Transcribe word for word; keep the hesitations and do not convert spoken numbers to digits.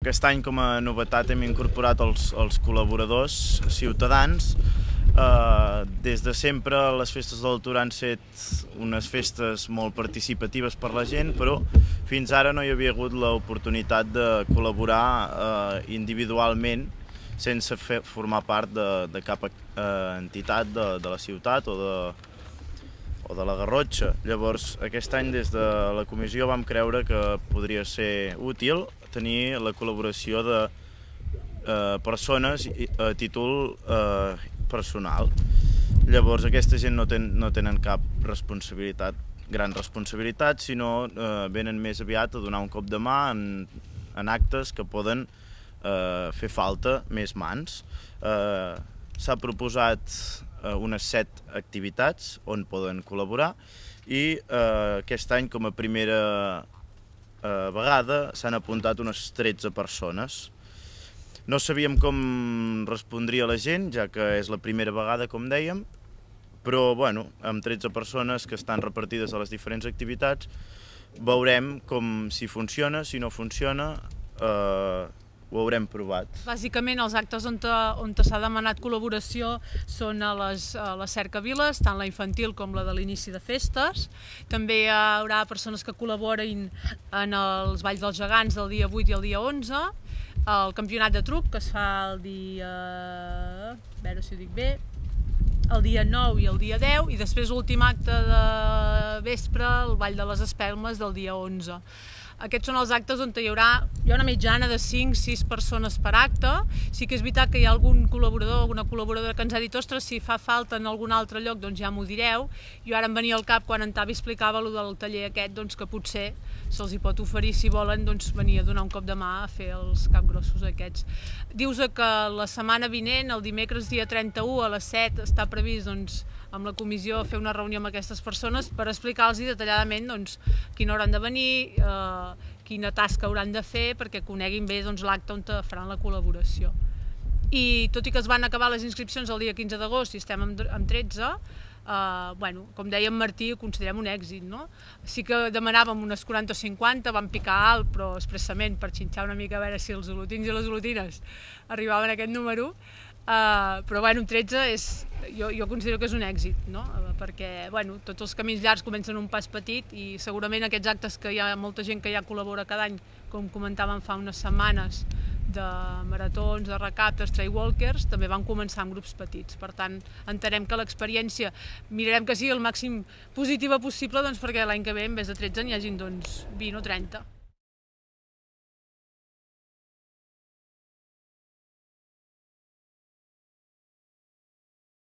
Aquest any, com a novetat, hem incorporat els, els col·laboradors ciutadans. Eh, des de sempre les festes de l'Altura han set unes festes molt participatives per la gent, però fins ara no hi havia hagut l'oportunitat de col·laborar eh, individualment sense fer, formar part de, de cap eh, entitat de, de la ciutat o de, o de la Garrotxa. Llavors, aquest any des de la comissió vam creure que podria ser útil tenir la col·laboració de eh, persones a títol eh, personal. Llavors, aquesta gent no, ten, no tenen cap responsabilitat, gran responsabilitat, sinó eh, venen més aviat a donar un cop de mà en, en actes que poden eh, fer falta més mans. Eh, S'ha proposat eh, unes set activitats on poden col·laborar i eh, aquest any, com a primera eh, vegada, s'han apuntat unes tretze persones. No sabíem com respondria la gent, ja que és la primera vegada, com dèiem, però bueno, amb tretze persones que estan repartides a les diferents activitats, veurem com si funciona, si no funciona, eh, ho haurem provat. Bàsicament, els actes on, on s'ha demanat col·laboració són a les, a les cercaviles, tant la infantil com la de l'inici de festes. També hi haurà persones que col·laborin en els Balls dels Gegants del dia vuit i el dia onze, el campionat de truc, que es fa el dia... a veure si ho dic bé... el dia nou i el dia deu, i després l'últim acte de vespre, el Ball de les Espelmes del dia onze. Aquests són els actes on hi haurà, hi ha una mitjana de cinc a sis persones per acte. Sí que és veritat que hi ha algun col·laborador, alguna col·laboradora que ens ha dit ostres, si fa falta en algun altre lloc, doncs ja m'ho direu. Jo ara em venia al cap quan en Tavi explicava allò del taller aquest, doncs que potser se'ls hi pot oferir, si volen, doncs venir a donar un cop de mà a fer els capgrossos aquests. Dius que la setmana vinent, el dimecres dia trenta-u a les set, està previst doncs, amb la comissió fer una reunió amb aquestes persones per explicar-los detalladament doncs, quina hauran de venir, eh, quina tasca hauran de fer perquè coneguin bé doncs, l'acte on faran la col·laboració. I tot i que es van acabar les inscripcions el dia quinze d'agost i estem amb, amb tretze, eh, bueno, com deia en Martí, ho considerem un èxit. No? Sí que demanàvem unes quaranta o cinquanta, vam picar alt, però expressament per xinxar una mica a veure si els olotins i les olotines arribaven a aquest número. Uh, però bueno, tretze és, jo, jo considero que és un èxit, no? Perquè bueno, tots els camins llargs comencen un pas petit i segurament aquests actes que hi ha molta gent que ja col·labora cada any, com comentàvem fa unes setmanes, de maratons, de recaptes, trailwalkers, també van començar amb grups petits. Per tant, entenem que l'experiència mirarem que sigui el màxim positiva possible doncs, perquè l'any que ve en vez de tretze n'hi hagin doncs, vint o trenta.